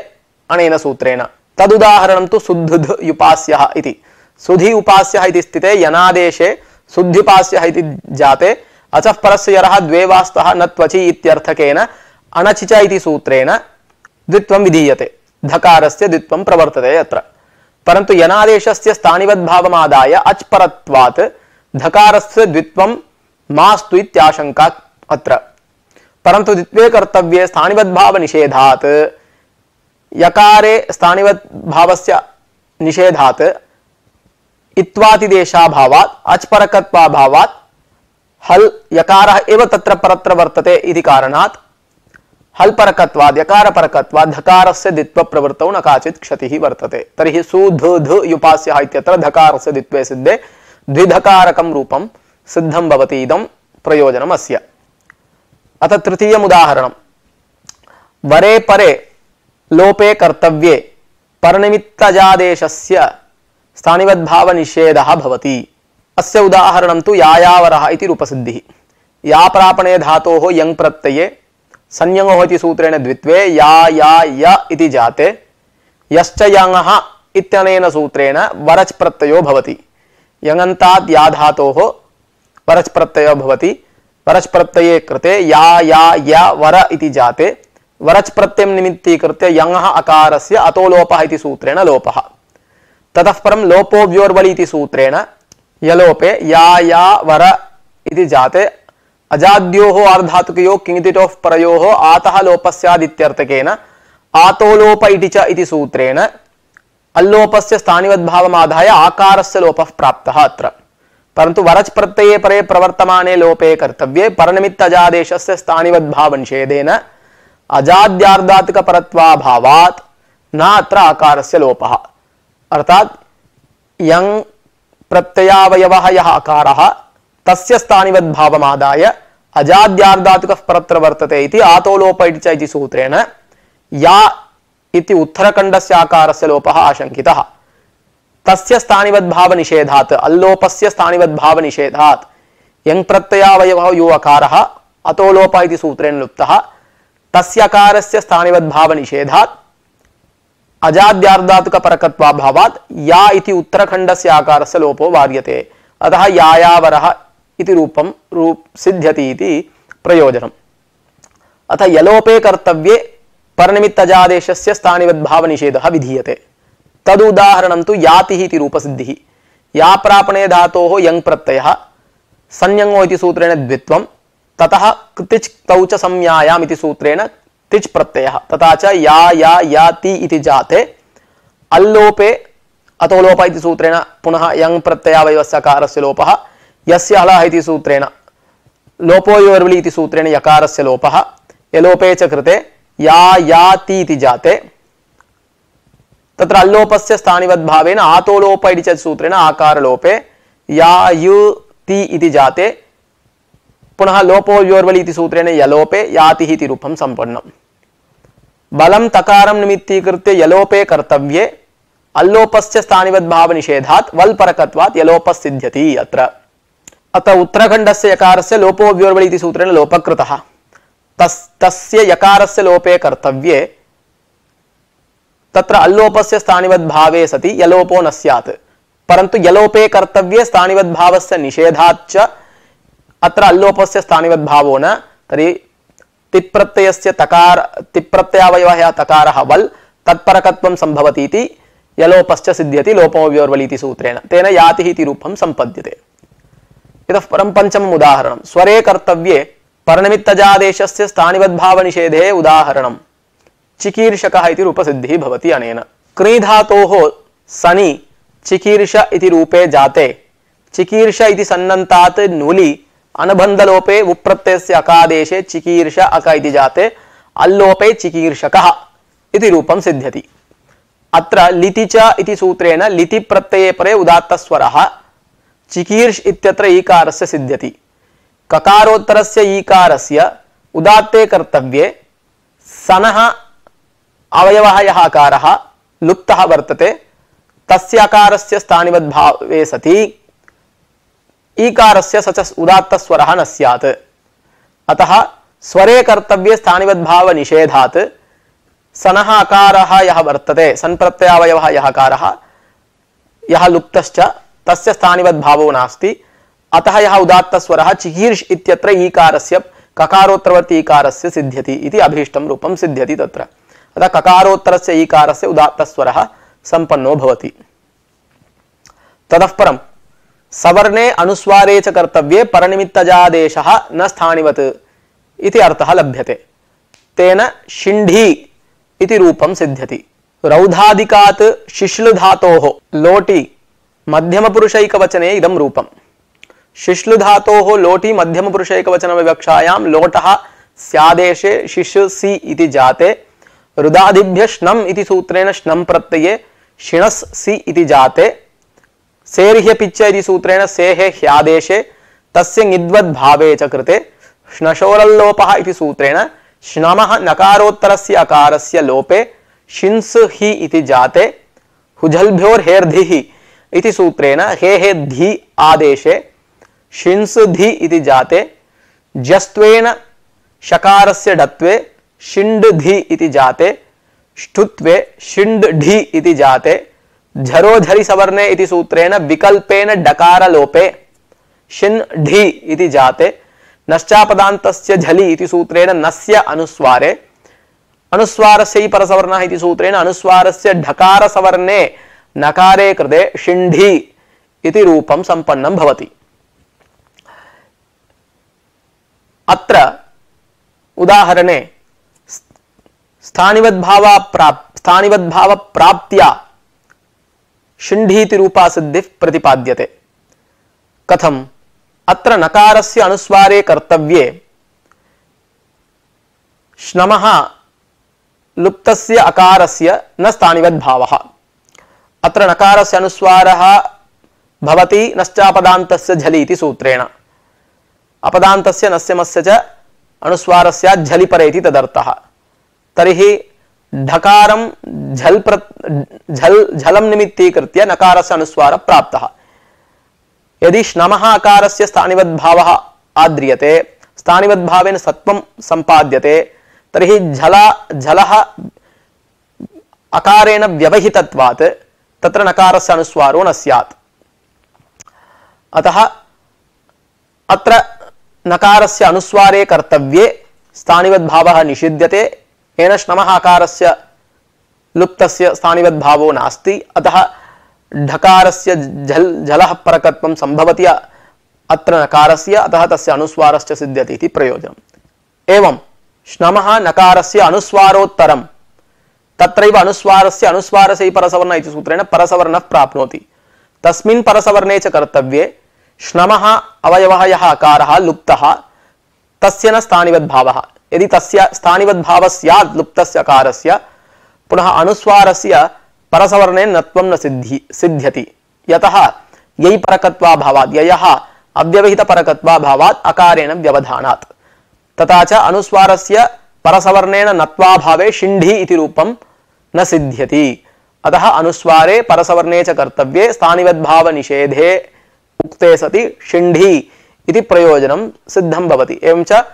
S1: अनेन सूत्रेण। तदुदाहरणं तु सुद्धुध् युपास्यः इति। सुधि उपास्यः इति स्थिते यनादेशे सुध्युपास्यः इति जाते अचः परस्य यरः द्वे वा स्तः न त्वचि इत्यर्थकेन अणचि च इति सूत्रेण द्वित्वं विधीयते। धकारस्य द्वित्वं प्रवर्तते यत्र। परन्तु यनादेशस्य स्थानिवद्भावमादाय अच् परत्वात् धकारस्य द्वित्वं मास्तु इत्याशंका अत्र। परन्तु द्वित्वे कर्तव्ये स्थानिवद्भावनिषेधात् यकारे स्थानिवद्भावस्य निषेधात् इत्वातिदेशाभावात् अच् परकत्वाभावात् हल् यकारः एव तत्र परत्र वर्तते इति कारणात् हल् परकत्वात् यकारपरकत्वात् धकारस्य द्वित्वप्रवृत्तौ न काचित् क्षतिः वर्तते। तर्हि सुधुध् युपास्यः इत्यत्र धकारस्य द्वित्वे सिद्धे द्विधकारकं रूपं सिद्धं भवति। इदं प्रयोजनम् अस्य। अथ तृतीयम् उदाहरणम्। वरे परे लोपे कर्तव्ये परनिमित्तजादेशस्य स्थानिवद्भावनिषेधः भवति। अस्य उदाहरणं तु यायावरः इति रूपसिद्धिः। या प्रापणे धातोः यङ् प्रत्यये संयङोः इति सूत्रेण द्वित्वे या या य इति जाते यश्च यङः इत्यनेन सूत्रेण वरच् प्रत्ययो भवति। यङन्ताद् या धातोः वरच् प्रत्ययो भवति। वरच् प्रत्यये कृते या या य वर इति जाते वरच् प्रत्ययं निमित्तीकृत्य यङः अकारस्य अतो लोपः इति सूत्रेण लोपः। ततः परं लोपो व्योर्वलि इति सूत्रेण यलोपे या या वर इति जाते अजाद्योः आर्धातुकयोः किङितिटोः परयोः आतः लोपस्यादित्यर्थकेन आतो लोप इति च इति सूत्रेण अल्लोपस्य स्थानिवद्भावमादाय आकारस्य लोपः प्राप्तः अत्र। परंतु वरच प्रत्यये परे प्रवर्तमाने लोपे कर्तव्ये परनिमित्त अजादेशस्य स्थानिवद्भाव निषेधेन अजाद्यार्धात्मक परत्वाभावात् न अत्र आकारस्य लोपः। अर्थात यं प्रत्ययावयवः यः आकारः तस्य स्थानिवद्भावमादाय अजाद्यार्धात्मकः परत्र वर्तते इति आतो लोप इति सूत्रेण या इति उत्तरखण्डस्य आकारस्य लोपः आशंकितः। तस्य स्थानिवद्भाव निषेधात् अल्लोपस्य स्थानिवद्भाव निषेधात् यं प्रत्ययावयवः यो अकारः अतो लोप इति सूत्रेण लुप्तः तस्य अकारस्य स्थानिवद्भाव निषेधात् अजाद्यार्धात्मक परकत्वाभावात् या इति उत्तरखण्डस्य आकारस्य लोपो वार्यते। अतः यायावरः इति रूपं रूप सिद्ध्यति इति प्रयोजनम्। अतः यलोपे कर्तव्ये परनिमित्त अजादेशस्य स्थानिवद्भाव निषेधः विधीयते। तदुदाहरणं तु यातिः इति रूपसिद्धिः। या प्रापणे धातोः यं प्रत्ययः संयंगो इति सूत्रेण द्वित्वं ततः तिच् तौ च संज्ञायाम् इति सूत्रेण तिच् प्रत्ययः तथा च या या याति इति जाते अल्लोपे अतो लोप इति सूत्रेण पुनः यं प्रत्ययावयवस्य अकारस्य लोपः यस्य हलः इति सूत्रेण लोपो योर्वलि इति सूत्रेण यकारस्य लोपः यलोपे च कृते या याति इति जाते तत्र अल्लोपस्य स्थानिवद्भावेन आतो लोप इति च सूत्रेण आकार लोपे या यु ति इति जाते पुनः लोपो योर्वलि इति सूत्रेण यलोपे यातिः इति रूपं संपन्नम्। बलं तकारं निमित्तीकृत्य यलोपे कर्तव्ये अल्लोपस्य स्थानिवद्भाव निषेधात् वल् परकत्वात् यलोपः सिद्ध्यति। अत्र अतः उत्तरखण्डस्य यकारस्य लोपो योर्वलि इति सूत्रेण लोपः कृतः। तस् तस्य यकारस्य लोपे कर्तव्ये तत्र अल्लोपस्य स्थानिवद्भावे सति यलोपो न स्यात्, परन्तु यलोपे कर्तव्ये स्थानिवद्भावस्य निषेधाच्च अत्र अल्लोपस्य स्थानिवद्भावो न। तर्हि तिप्रत्ययस्य तकार तिप्रत्ययावयवः यः तकारः वल् तत्परकत्वं संभवति इति यलोपश्च सिद्ध्यति लोपो व्योर्वलि इति सूत्रेण तेन यातिः इति रूपं सम्पद्यते। इतः परं पञ्चमम् उदाहरणं स्वरे कर्तव्ये परनिमित्तजादेशस्य स्थानिवद्भाव निषेधे उदाहरणं चिकीर्षकः इति रूपसिद्धिः भवति। अनेन क्री धातोः सनि चिकीर्ष इति रूपे जाते चिकीर्ष इति सन्नन्तात् नुलि अनुबन्धलोपे उप्रत्ययस्य अकादेशे चिकीर्ष अक इति जाते अल्लोपे चिकीर्षकः इति रूपं सिद्ध्यति। अत्र लिति च इति सूत्रेण लिति प्रत्यये परे उदात्तस्वरः चिकीर्ष इत्यत्र ईकारस्य सिद्ध्यति। ककारोत्तरस्य ईकारस्य उदात्ते कर्तव्ये सनः अवयवः यः आकारः लुप्तः वर्तते तस्य आकारस्य स्थानिवद्भावे सति ईकारस्य स च उदात्तस्वरः न स्यात्। अतः स्वरे कर्तव्ये स्थानिवद्भाव निषेधात् सनः अकारः यः वर्तते सन्प्रत्ययावयवः यः आकारः यः लुप्तश्च तस्य स्थानिवद्भावो नास्ति। अतः यः उदात्तस्वरः चिकीर्ष इत्यत्र ईकारस्य ककारोत्तरवर्ती ईकारस्य सिद्ध्यति इति अभीष्टं रूपं सिद्ध्यति तत्र। अतः ककारोत्तरस्य ईकारस्य उदात्तस्वरः संपन्नो भवति। ततः परं सवर्णे अनुस्वारे च कर्तव्ये परनिमित्तजादेशः न स्थानिवत् इति अर्थः लभ्यते। तेन शिण्ढी इति रूपं सिद्ध्यति। रौधादिकात् शिश्लु धातोः लोटि मध्यमपुरुषैकवचने इदं रूपं। शिश्लु धातोः लोटि मध्यमपुरुषैकवचनविवक्षायां लोटः स्यादेशे शिशुसि इति जाते रुदादिभ्यः श्नम् इति सूत्रेण श्नम् प्रत्यये शिणस् सि इति जाते सेर्ह्य पिच्च इति सूत्रेण सेहे ह्यादेशे तस्य ङिद्वद्भावे च कृते श्नशोरल्लोपः इति सूत्रेण श्नमः नकारोत्तरस्य अकारस्य लोपे शिंस हि इति जाते हुजल्भ्योर्हेर्धिः इति सूत्रेण हे हे धि आदेशे शिंस धि इति जाते जस्त्वेन शकारस्य डत्वे शिण्ड धि इति जाते ष्ठुत्वे शिण्ड ढि इति जाते झरोझरि सवर्णे इति सूत्रेण विकल्पेन डकार लोपे शिन् ढि इति जाते नश्चापदान्तस्य झलि इति सूत्रेण नस्य अनुस्वारे अनुस्वारस्य परसवर्णः इति सूत्रेण अनुस्वारस्य ढकार सवर्णे नकारे कृते शिण्ढि इति रूपं संपन्नं भवति। अत्र उदाहरणे स्थानिवद्भाव प्राप् स्थानिवद्भाव प्राप्त्या शिण्ढीति रूपा सिद्धिः प्रतिपाद्यते। कथम अत्र नकारस्य अनुस्वारे कर्तव्ये श्नमः लुप्तस्य अकारस्य न स्थानिवद्भावः। अत्र नकारस्य अनुस्वारः भवति नश्चापदान्तस्य झलि इति सूत्रेण। अपदान्तस्य नस्य मस्य च अनुस्वारस्य झलि परे इति तदर्थः। तर्हि ढकारं झल प्र झल झलं निमित्तीकृत्य नकारस्य अनुस्वारः प्राप्तः। यदि श्नमः अकारस्य स्थानिवद्भावः आद्रियते, स्थानिवद्भावेन सत्वं सम्पाद्यते, तर्हि झला झलः अकारेण व्यवहितत्वात् तत्र नकारस्य अनुस्वारो न स्यात्। अतः अत्र नकारस्य अनुस्वारे कर्तव्ये स्थानिवद्भावः निषिध्यते। येन श्नमः अकारस्य लुप्तस्य स्थानिवद्भावो नास्ति। अतः ढकारस्य झल झलः परकत्वं संभवति अत्र नकारस्य, अतः तस्य अनुस्वारश्च सिद्ध्यति इति प्रयोजनम्। एवं श्नमः नकारस्य अनुस्वारोत्तरं तत्रैव अनुस्वारस्य अनुस्वारस्य परसवर्ण इति सूत्रेण परसवर्णः प्राप्नोति। तस्मिन् परसवर्णे च कर्तव्ये श्नमः अवयवः यः अकारः लुप्तः तस्य न स्थानिवद्भावः। यदि तस्य स्थानिवद्भावः स्यात् लुप्तस्य अकारस्य, पुनः अनुस्वारस्य परसवर्णेन नत्वं न सिद्धि सिद्ध्यति। यतः यै परकत्वाभावात्, ययः अव्यवहितपरकत्वाभावात् अकारेण व्यवधानात्। तथा च अनुस्वारस्य परसवर्णेन नत्वाभावे शिण्ढि इति रूपं न सिद्ध्यति। अतः अनुस्वारे परसवर्णे च कर्तव्ये स्थानिवद्भावनिषेधे उक्ते सति शिण्ढि इति प्रयोजनं सिद्धं भवति। एवं च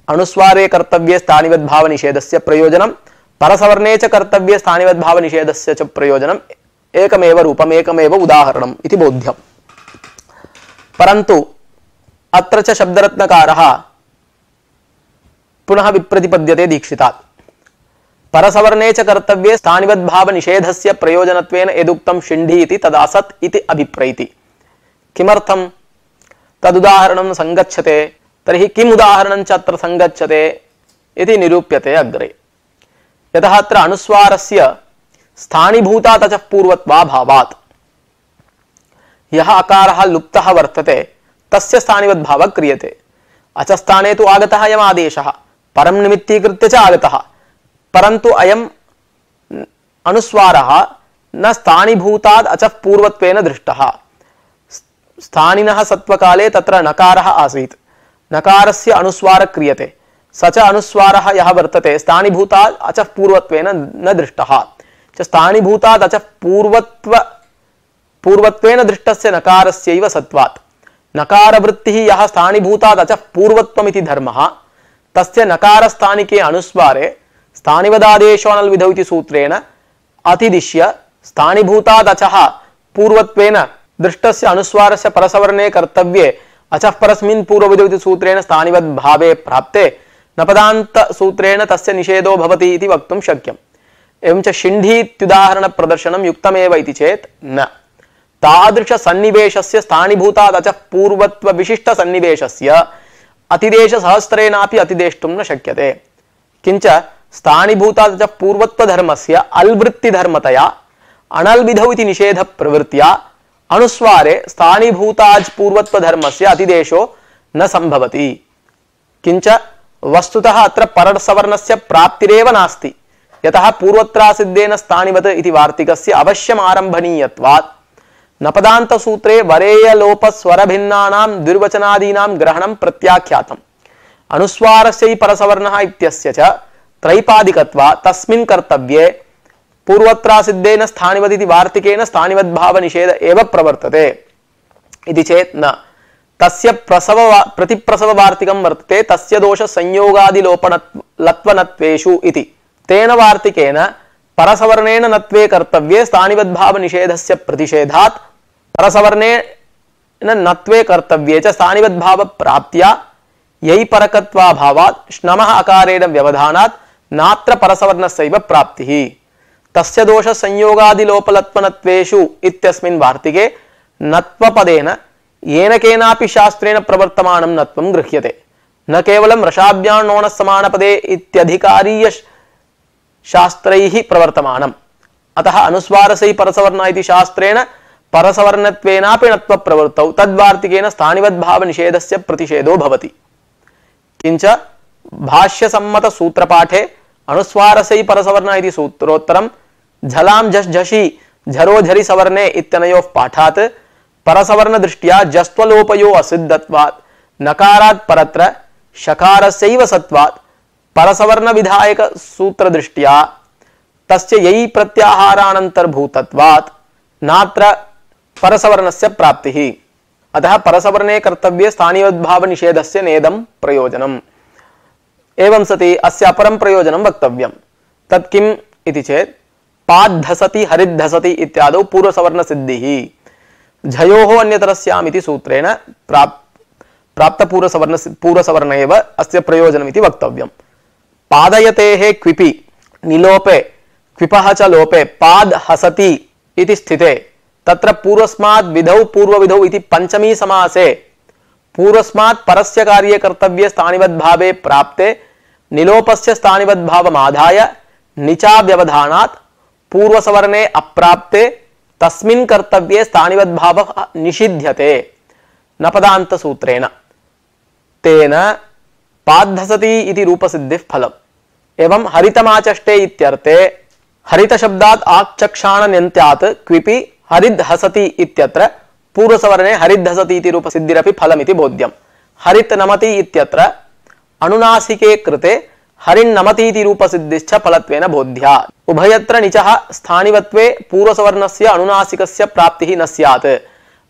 S1: अनुस्वारे कर्तव्ये स्थानिवद्भावनिषेधस्य प्रयोजनं, परसवर्णे च कर्तव्ये स्थानिवद्भावनिषेधस्य च प्रयोजनम् एकमेव रूपम्, एकमेव उदाहरणम् इति बोध्यम्। परन्तु अत्र च शब्दरत्नकारः पुनः विप्रतिपद्यते दीक्षितात्। परसवर्णे च कर्तव्ये स्थानिवद्भावनिषेधस्य प्रयोजनत्वेन यदुक्तं शिण्ढि इति तदासत् इति अभिप्रैति। किमर्थं तदुदाहरणं संगच्छते? तर्हि किम् उदाहरणं च अत्र संगच्छते इति निरूप्यते अग्रे। यतः अत्र अनुस्वारस्य स्थानीभूतात् अचः पूर्वत्वाभावात् यः अकारः लुप्तः वर्तते तस्य स्थानिवद्भावः क्रियते। अचस्थाने तु आगतः अयम् आदेशः, परं निमित्तीकृत्य च आगतः, परन्तु अयम् अनुस्वारः न स्थानीभूतात् अचः पूर्वत्वेन दृष्टः। स्थानिनः सत्वकाले तत्र नकारः आसीत्, नकारस्य अनुस्वारः क्रियते, स च अनुस्वारः यः वर्तते स्थानीभूतात् अचः पूर्वत्वेन न दृष्टः। च स्थानीभूतात् अचः पूर्वत्व पूर्वत्वेन दृष्टस्य नकारस्यैव सत्वात् नकारवृत्तिः यः स्थानीभूतात् अचः पूर्वत्वमिति धर्मः, तस्य नकारस्थानिके अनुस्वारे स्थानिवदादेशोऽनल् विधौ इति सूत्रेण अतिदिश्य स्थानीभूतात् अचः पूर्वत्वेन दृष्टस्य अनुस्वारस्य परसवर्णे कर्तव्ये अचः परस्मिन् पूर्वविधौ इति सूत्रेण स्थानिवद्भावे प्राप्ते नपदान्त सूत्रेण तस्य निषेधो भवति इति वक्तुं शक्यम्। एवं च शिण्ढि इत्युदाहरण प्रदर्शनं युक्तमेव इति चेत् न। तादृश सन्निवेशस्य स्थानीभूतात् अचः पूर्वत्व विशिष्ट सन्निवेशस्य अतिदेश सहस्रेणापि अतिदेष्टुं न शक्यते। किंच स्थानीभूतात् अचः पूर्वत्व धर्मस्य अल्वृत्ति धर्मतया अनल् विधौ इति निषेध प्रवृत्त्या अनुस्वारे स्थानीभूतात् पूर्वत्व धर्मस्य अतिदेशो न संभवति। किंच वस्तुतः अत्र परसवर्णस्य प्राप्तिरेव नास्ति। यतः पूर्वत्रासिद्धेन स्थानिवत् इति वार्तिकस्य अवश्यम् आरम्भणीयत्वात् नपदान्त सूत्रे वरेय लोप स्वर भिन्नानां द्विर्वचनादीनां ग्रहणं प्रत्याख्यातम्। अनुस्वारस्य परसवर्णः इत्यस्य च त्रैपादिकत्वात् तस्मिन् कर्तव्ये पूर्वत्रासिद्धेन स्थानिवत् इति वार्तिकेन स्थानिवद्भावनिषेध एव प्रवर्तते इति चेत् न। तस्य प्रसव प्रतिप्रसव वार्तिकं वर्तते तस्य दोष संयोगादिलोपनत्वनत्वेषु इति। तेन वार्तिकेन परसवर्णेन नत्वे कर्तव्ये स्थानिवद्भावनिषेधस्य प्रतिषेधात् परसवर्णेन नत्वे कर्तव्ये च स्थानिवद्भाव प्राप्त्या यै परकत्वाभावात् श्नमः अकारेण व्यवधानात् नात्र परसवर्णस्यैव प्राप्तिः। तस्य दोष संयोगादिलोपलत्वनत्वेषु इत्यस्मिन् वार्तिके नत्वपदेन येन केनापि शास्त्रेण प्रवर्तमानं नत्वं गृह्यते, न केवलं रसाभ्याण्णोणः समानपदे इत्यधिकारीय शास्त्रैः प्रवर्तमानम्। अतः अनुस्वारसै परसवर्ण इति शास्त्रेण परसवर्णत्वेनापि णत्व प्रवृत्तौ तद्वार्तिकेन स्थानिवद्भाव निषेधस्य प्रतिषेधो भवति। किंच भाष्यसम्मत सूत्रपाठे अनुस्वारसै परसवर्ण इति सूत्रोत्तरं झलां झष् झषि झरो झरि सवर्णे इत्यनयोः पाठात् परसवर्ण दृष्ट्या जस्त्वलोपयो असिद्धत्वात् नकारात् परत्र शकारस्यैव सत्वात् परसवर्ण विधायक सूत्र दृष्ट्या तस्य यै प्रत्याहारानन्तर्भूतत्वात् नात्र परसवर्णस्य प्राप्तिः। अतः परसवर्णे कर्तव्ये स्थानीयोद्भाव निषेधस्य नेदं प्रयोजनम्। एवं सति अस्य अपरं प्रयोजनं वक्तव्यं। तत् किम् इति चेत् पाद्धसति हरिद्धसति इत्यादौ पूर्वसवर्ण सिद्धिः झयोः अन्यतरस्याम् इति सूत्रेण प्राप् प्राप्त पूर्वसवर्ण पूर्वसवर्ण एव अस्य प्रयोजनम् इति वक्तव्यं। पादयतेः क्विपि निलोपे क्विपः च लोपे पाद हसति इति स्थिते तत्र पूर्वस्मात् विधौ पूर्वविधौ इति पंचमी समासे पूर्वस्मात् परस्य कार्ये कर्तव्ये स्थानिवद्भावे प्राप्ते निलोपस्य स्थानिवद्भावमाधाय निचा व्यवधानात् पूर्वसवर्णे अप्राप्ते तस्मिन् कर्तव्ये स्थानिवद्भावः निषिध्यते नपदान्त सूत्रेण। तेन पाद्धसति इति रूपसिद्धिः फलम्। एवं हरितमाचष्टे इत्यर्थे हरित शब्दात् आचक्षाणन्यन्त्यात् क्विपि हरिद्धसति इत्यत्र पूर्वसवर्णे हरिद्धसति इति रूपसिद्धिरपि फलमिति बोध्यम्। हरित नमति इत्यत्र अनुनासिके कृते हरिन्नमति इति रूपसिद्धिश्च फलत्वेन बोध्या। उभयत्र निचः स्थानिवत्वे पूर्वसवर्णस्य अनुनासिकस्य प्राप्तिः न स्यात्।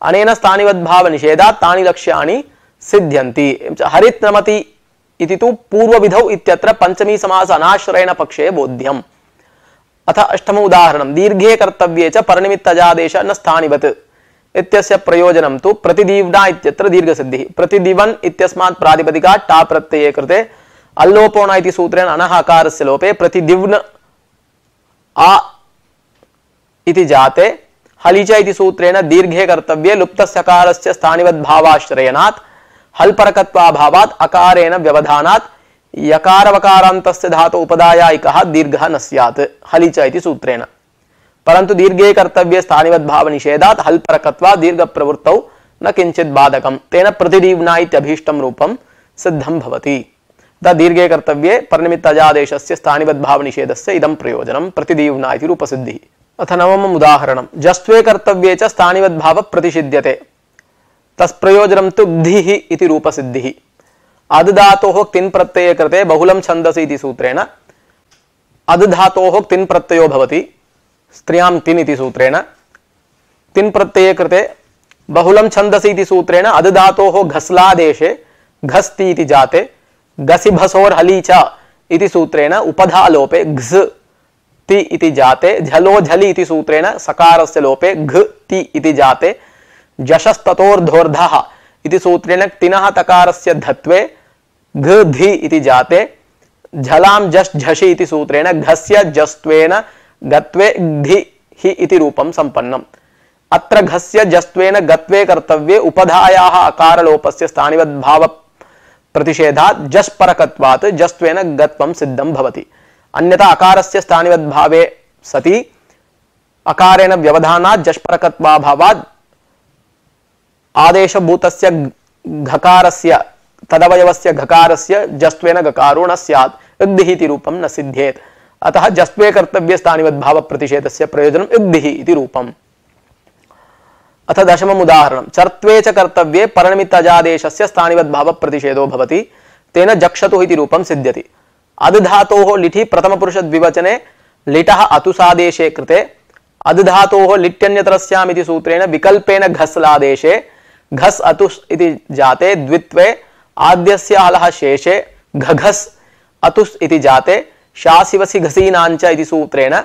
S1: अनेन स्थानिवद्भाव निषेधात् तानि लक्ष्याणि सिद्ध्यन्ति। हरित नमति इति तु पूर्वविधौ इत्यत्र पंचमी समास अनाश्रयण पक्षे बोध्यम्। अथ अष्टम उदाहरणं दीर्घे कर्तव्ये च परनिमित्तजादेश न स्थानिवत् इत्यस्य प्रयोजनं तु प्रतिदीव्ना इत्यत्र दीर्घसिद्धिः। प्रतिदिवन् इत्यस्मात् प्रातिपदिकात् टा प्रत्यये कृते अल्लोपोण इति सूत्रेण अनः अकारस्य लोपे प्रतिदिव्न आ इति जाते हलिच इति सूत्रेण दीर्घे कर्तव्ये लुप्तस्यकारस्य स्थानिवद्भावाश्रयणात् हल्परकत्वाभावात् अकारेण व्यवधानात् यकारवकारान्तस्य धातु उपदायायिकः दीर्घः न स्यात् हलिच इति सूत्रेण। परन्तु दीर्घे कर्तव्ये स्थानिवद्भाव निषेधात् हल्परकत्वात् दीर्घप्रवृत्तौ न किंचित् बाधकम्। तेन प्रतिदीव्ना इत्यभीष्टं रूपं सिद्धं भवति। द दीर्घे कर्तव्ये परनिमित्तजादेशस्य स्थानिवद्भाव निषेधस्य इदं प्रयोजनं प्रतिदीव्ना इति रूपसिद्धिः। अथ नवमम् उदाहरणं जस्त्वे कर्तव्ये च स्थानिवद्भावः प्रतिषिध्यते। तस्प्रयोजनं तु ग्धिः इति रूपसिद्धिः। अद् धातोः तिन् प्रत्यये कृते बहुलं छन्दसि इति सूत्रेण अद् धातोः तिन् प्रत्ययो भवति स्त्रियां तिन् इति सूत्रेण। तिन् प्रत्यये कृते बहुलं छन्दसि इति सूत्रेण अद् धातोः घस्लादेशे घस्ति इति जाते गसिभसोर् हली च इति सूत्रेण उपधा लोपे घ्स् ति इति जाते झलो झलि इति सूत्रेण सकारस्य लोपे घ ति इति जाते जशस्ततोर्धोर्धः इति सूत्रेण तिनः तकारस्य धत्वे घ धि इति जाते झलां जश् झषि इति सूत्रेण घस्य जस्त्वेन गत्वे घि हि इति रूपं संपन्नम्। अत्र घस्य जस्त्वेन गत्वे कर्तव्ये उपधायाः अकारलोपस्य स्थानिवद्भाव प्रतिषेधात् जस्परकत्वात् जस्त्वेन गत्वं सिद्धं भवति। अन्यथा अकारस्य स्थानिवद्भावे सति अकारेण व्यवधानात् जस्परकत्वाभावात् आदेशभूतस्य घकारस्य तदवयवस्य घकारस्य जस्त्वेन गकारो न स्यात् इग्धिः इति रूपं न सिद्ध्येत्। अतः जस्त्वे कर्तव्ये स्थानिवद्भाव प्रतिषेधस्य प्रयोजनम् इग्धिः इति रूपम्। अथ दशमम् उदाहरणं चर्त्वे च कर्तव्ये परनिमित्तजादेशस्य स्थानिवद्भाव प्रतिषेधो भवति। तेन जक्षतुः इति रूपं सिद्ध्यति। अद् धातोः लिठि प्रथमपुरुष द्विवचने लिटः अतुसादेशे कृते अद् धातोः लिट्यन्यतरस्याम् इति सूत्रेण विकल्पेन घस्लादेशे घस् अतुस् इति जाते द्वित्वे आद्यस्य हलः शेषे घघस् अतुस् इति जाते शासिवसि घसीनाञ्च इति सूत्रेण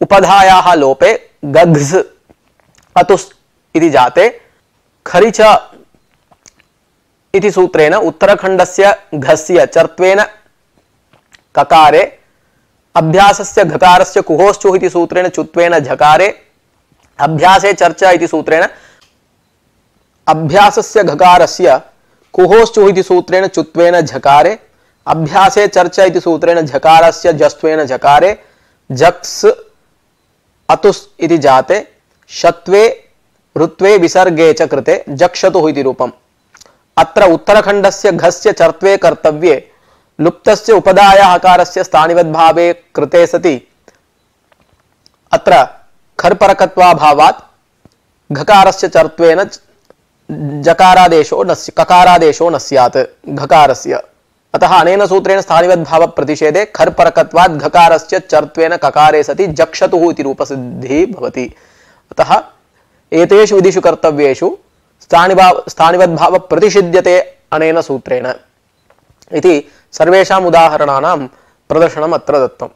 S1: उपधायाः लोपे गघ्स् अतुस् इति जाते खरिच इति सूत्रेण उत्तरखण्डस्य घस्य चर्त्वेन ककारे अभ्यासस्य घकारस्य कुहोश्चुः इति सूत्रेण चुत्वेन झकारे अभ्यासे चर्चा इति सूत्रेण अभ्यासस्य घकारस्य कुहोश्चुः इति सूत्रेण चुत्वेन झकारे अभ्यासे चर्चा इति सूत्रेण झकारस्य जस्त्वेन झकारे झक्स् अतुस् इति जाते शत्वे ऋत्वे विसर्गे च कृते जक्षतुः इति रूपम्। अत्र उत्तरखण्डस्य घस्य चर्त्वे कर्तव्ये लुप्तस्य उपधाया हकारस्य स्थानिवद्भावे कृते सति अत्र खर्परकत्वाभावात् घकारस्य चर्त्वेन जकारादेशो न ककारादेशो न स्यात् घकारस्य। अतः अनेन सूत्रेण स्थानिवद्भाव प्रतिषेधे खर्परकत्वात् घकारस्य चर्त्वेन ककारे सति जक्षतुः इति रूपसिद्धिः भवति। अतः एतेषु विधिषु कर्तव्येषु स्थानिभाव स्थानिवद्भाव प्रतिषिध्यते अनेन सूत्रेण इति सर्वेषाम् उदाहरणानां प्रदर्शनम् अत्र दत्तम्।